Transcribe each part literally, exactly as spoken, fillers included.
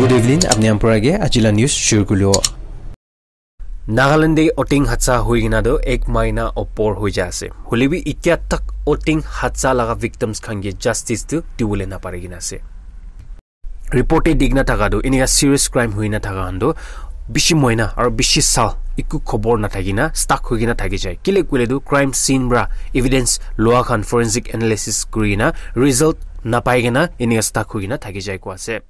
Good evening, apni khan para ke ajila news shuru kuribo. Nagaland te oting hatsa hui kena tu ek mahina opor hui jai ase. Hoile bi itya tak oting hatsa laga victims khan ke justice tu dibole napari kena ase. Report te dikhi na thaka tu enika serious crime hui na thaka khan tu bishi moina aru bishi sal eku khobor nathaki na stuck hui kena thaki jai. Kile koile tu crime scene para evidence lua khan forensic analysis kuri kena result napai kena enika stuck hui kena thaki jai koi ase.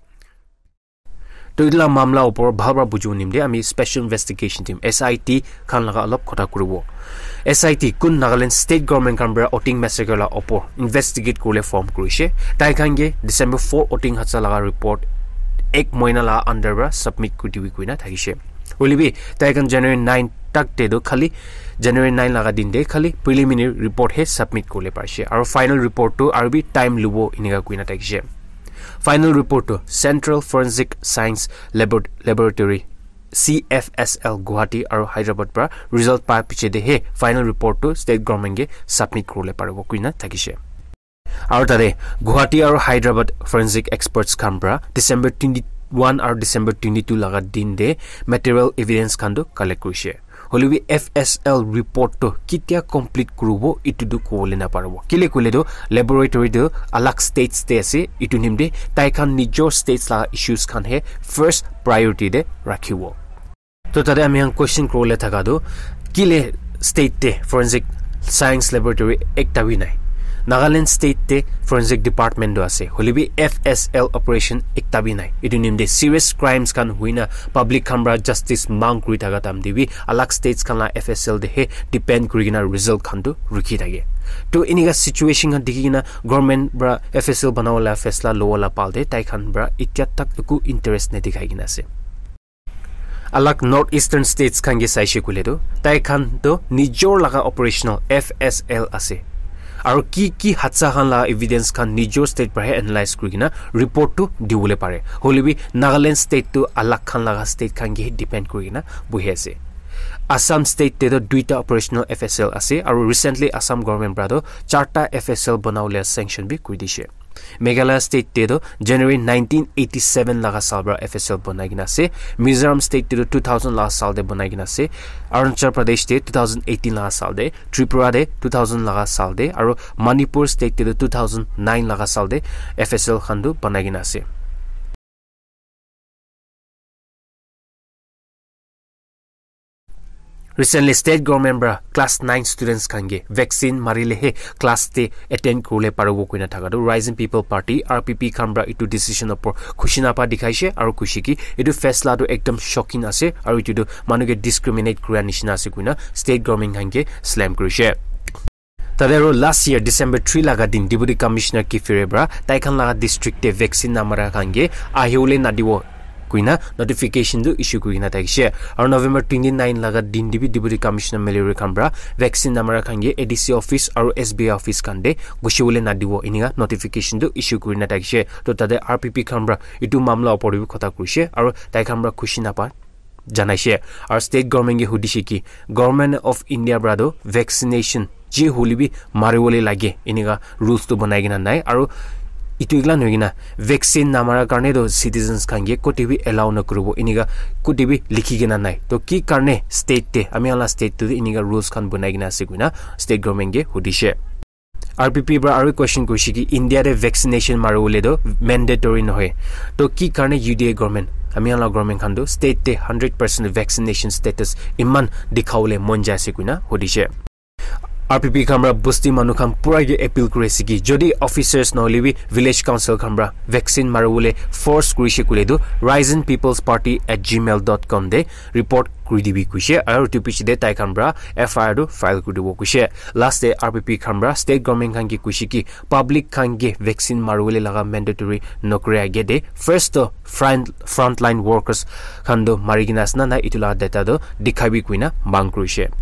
To etu la mamla opor bhal para bujibo nimite ami special investigation team, S I T, khan laga olop kotha kuribo. S I T kun Nagaland state government khan para oting massacre la opor investigate kuribole form kurishe. Tai khan ke December four oting hatsa laga report ek moina la under para submit kuri dibi koina thakishe. Hoile bi tai khan January nine tak te tu khali January nine laga din te khali preliminary report he submit kuribole parishe. Aru final report tu aru bi time lubo enika koina thakishe. Final report tu Central Forensic Science Labor-, Laboratory, C F S L, Guwahati aru Hyderabad para result pa piche de he final report tu state government ke submit kuribole paribo koina thakishe. Aru tate Guwahati aru Hyderabad forensic experts khan para December twenty-one aru December twenty-two laga din de material evidence khan tu collect kurishe. Hoile bi F S L report tu ketia complete kuribo etu tu kobole naparibo. Kile koile tu laboratory tu alag states te ase, etu nimite tai khan nijor states laga issues khan he first priority te rakhibo. To tate ami khan question kuribole thaka tu kile state te forensic science laboratory ekta bi nai. Nagaland state te forensic department tu ase. Hoile bi F S L operation ekta bi nai. Etu nimite serious crimes khan hui na public khan para justice mang kuri thaka time te bi alag states khan la F S L te he depend kuri kena result khan tu rukhi thake. To enika situation khan dikhi kena government para F S L banabo la faisla lobo la pal te tai khan para itya tak eku interest nedikhai kena ase. Alag North Eastern states khan ke saishe koile tu tai khan tu nijor laga operational F S L ase. Aru ki ki hatsa khan laga evidence khan nijor state para he analyze kuri kena report tu dibole pare. Hoile bi Nagaland state tu alag khan laga state khan ke he depend kuri kena buhi ase. Assam state te tu duita operational F S L ase aru recently Assam government para tu charta F S L banabole sanction bi kuri dishe. Meghalaya state te tu January nineteen eighty-seven laga sal para F S L banai kena ase. Mizoram state te tu two thousand laga sal te banai kena ase. Arunachal Pradesh te two thousand eighteen laga sal te, Tripura te two thousand laga sal te, aru Manipur state te tu two thousand nine laga sal te F S L khan tu banai kena ase. Recently, state government para class nine students khan ke vaccine marile he class te attend kuribole paribo koina thaka tu Rising People Party, R P P, khan para etu decision opor khushi napa dikhaishe aru khushi ki etu faisla tu ekdom shocking ase aru etu tu manu ke discriminate kura nishina ase koina state government khan ke slam kurishe. Tate aru last year December three laga din Deputy Commissioner Kiphire para tai khan laga district te vaccine namara khan ke ahibole nadibo koina notification tu issue kuri kena thakishe. Aru November twenty-nine laga din te bi Deputy Commissioner Mallory khan para vaccine namara khan ke A D C office aru S B I office khan te gushibole nadibo enika notification tu issue kuri kena thakishe. To tate R P P khan para etu mamla opor te bi kotha kurishe aru tai khan para khushi napa janaishe. Aru state government ke hudishe ki Government of India para tu vaccination je hoile bi maribole lage enika rules tu banai kena nai. Aru etu ekla nohoi kena vaccine namara karne tu citizens khan ke kote bi allow nakuribo enika kote bi likhi kena nai. To ki karne state te ami khan la state tu enika rules khan banai kena ase koina state government ke hudishe. R P P para aru question kurishe ki India te vaccination maribole tu mandatory nohoi. To ki karne U D A government, ami khan la government khan tu state te hundred percent vaccination status iman dikhabole mon jai ase koina hudishe. R P P khan para bosti manu khan pura ke appeal kuri ase ki jodi officers nohole bi village council khan para vaccine maribole force kurishe koile tu Rising People's Party at gmail dot com te report kuri dibi kuishe aru etu piche te tai khan para F I R tu file kuri dibo kuishe. Last te R P P khan para state government khan ke kuishe ki public khan ke vaccine maribole laga mandatory nokore age te first to front, frontline workers khan tu mari kena ase na nai etu laga data tu dikhabi koina mang kurishe.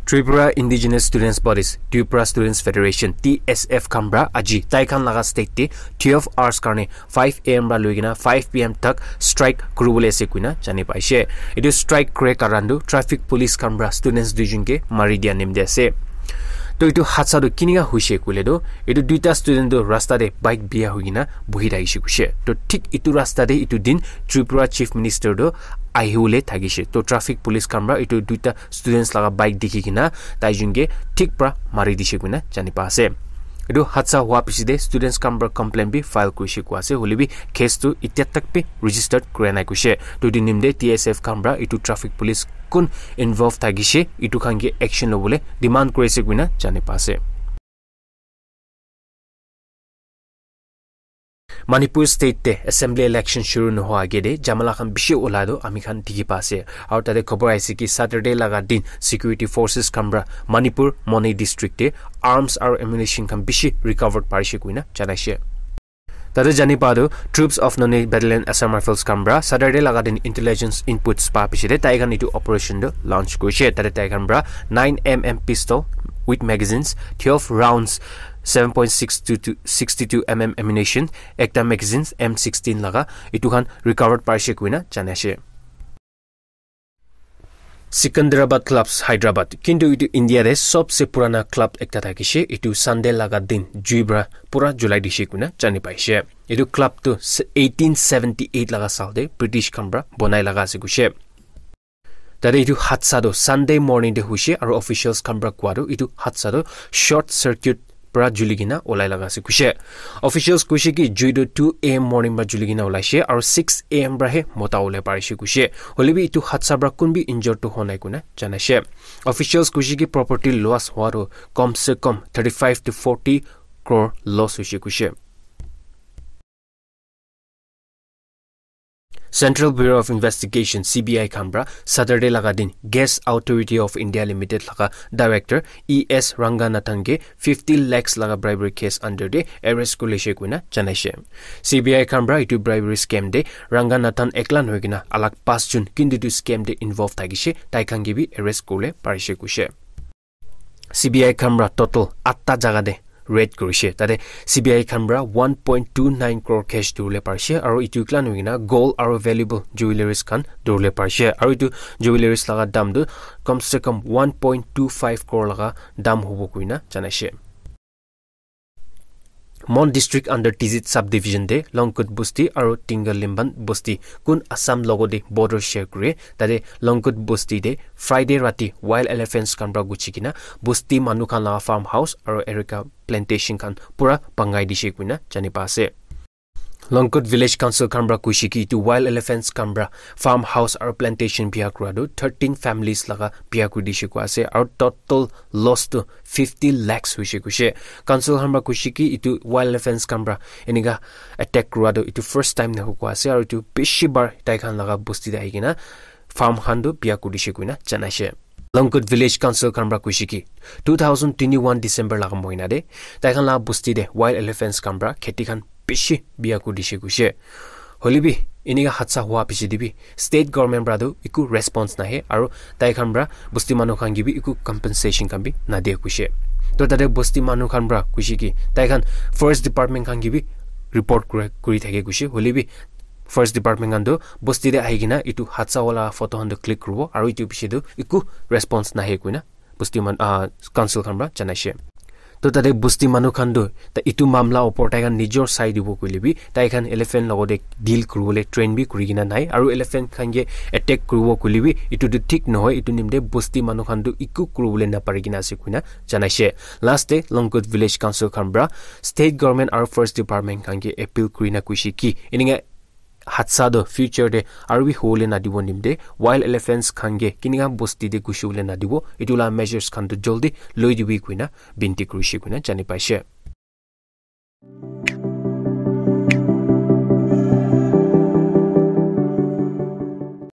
Tripura Indigenous Students Bodies, Tripura Students Federation, T S F khan para aji tai khan laga state te twelve hours karne five A M para loi kena five P M tak strike kuribole ase koina jani paishe. Etu strike kure karan tu traffic police khan para students duijon ke mari dia nimite ase. To etu hadsa tu kinika hoise koile tu, etu duita student tu rasta te bike biya hoi kena bohi thakishe koishe. To thik etu rasta te etu din Tripura Chief Minister tu ahibole thakishe. To traffic police khan para etu duita students laga bike dikhi kena tai jun ke thik para mari dishe koina jani pa ase. Etu hadsa hua piche te students khan para complaint bi file kurishe kua ase, hoile bi case tu itya tak bi registered kura nai koishe. To etu nimite T S F khan para etu traffic police kun involve thakishe, etu khan ke action lobole demand kuri ase koina jani pa ase. Manipur state te assembly election shuru nohoa age te jamala khan bishi ola tu ami khan dikhi pa ase. Aru tate khobor aise ki Saturday laga din security forces khan para Manipur Moni district te arms aru ammunition khan bishi recovered parishe koina janaishe. Tate jani pa tu Troops of Noney Battalion Assam Rifles khan para Saturday laga din intelligence inputs pa piche te tai khan etu operation tu launch kurishe. Tate tai khan para nine M M pistol with magazines, twelve rounds, seven point six two two, sixty-two M M ammunition, ekta magazines M sixteen laga etu khan recovered parishe koina janaishe. Secunderabad Clubs, Hyderabad. Kintu etu India te sobse purana club ekta thakishe, etu Sunday laga din jui para pura julai dishe koina jani paishe. Etu club tu eighteen seventy-eight laga saal te British khan para bonai laga ase koishe. Tate etu hadsa tu Sunday morning te hoishe aru officials khan para koa tu etu hadsa tu short circuit para juli kena olai laga ase koishe. Officials koishe ki jui tu two A M morning para juli kena olaishe aru six A M para he mota olai parishe koishe. Hoile bi etu hadsa para kun bi injured tu hwa nai koina janaishe. Officials koishe ki property loss hwa tu kom se kom thirty-five to forty crore loss hoishe koishe. Central Bureau of Investigation, C B I khan para Saturday laga din Gas Authority of India Limited laga director E S Ranganathan ke fifty lakhs laga bribery case under te arrest kurishe koina janaishe. C B I khan para etu bribery scam te Ranganathan ekla nohoi kena alag pas jun kintu etu scam te involve thakishe tai khan ke bi arrest kuribole parishe koishe. C B I khan para total atta jaga te raid kurishe. Tate C B I khan para one point two nine crore cash dhuribole parishe aru etu ekla nohoi kena gold aru valuable jewelleries khan dhuribole parishe aru etu jewelleries laga dam tu kom se kom one point two five crore laga dam hobo koina janaishe. Mon district under Tizit subdivision te Longkut Bosti aru Tingalimban Bosti kun Assam logo te border share kure. Tate Longkut Bosti te Friday rati wild elephants khan para guchi kena Bosti manu khan laga farm house aru erica plantation khan pura bangai dishe koina jani pa ase. Longkut Village Council khan para koishe ki etu wild elephants khan para farm house aru plantation biya kura tu thirteen families laga biya kuri dishe kua ase aru total loss tu fifty lakhs hoishe koishe. Council khan para koishe ki etu wild elephants khan para enika attack kura tu etu first time nahobo kua ase aru etu bishi bar tai khan laga bosti te ahi kena farm khan tu biya kuri dishe koina janaishe. Longkut Village Council khan para koishe ki two thousand twenty-one December laga mohina te tai khan laga bosti te wild elephants khan para kheti khan bishi biya kuri dishe koishe. Hoile bi enika hadsa hua piche te bi state government para tu eku response nahe aru tai khan para bosti manu khan ke bi eku compensation khan bi nadia koishe. To tate bosti manu khan para koishe ki tai khan forest department khan ke bi report kura kuri thake koishe. Hoile bi forest department khan tu bosti te ahi kena etu hadsa wala photo khan tu click kuribo aru etu piche tu eku response nahe koina bosti man, ah, council khan para janaishe. To tate bosti manu khan tu ta etu mamla opor tai khan nijor sai dibo koile bi tai khan elephant logote deal kuribole train bi kuri kena nai aru elephant khan ke attack kuribo koile bi etu tu thik nohoi. Etu nimite bosti manu khan tu eku kuribole napari kena ase koina janaishe. Last te Longkut Village Council khan para state government aru forest department khan ke appeal kuri na koishe ki enika hadsa tu future te aru bi hobole nadibo nimite wild elephants khan ke kinika bosti te gushibole nadibo etu laga measures khan tu joldi loi dibi koina binti kurishe koina jani paishe.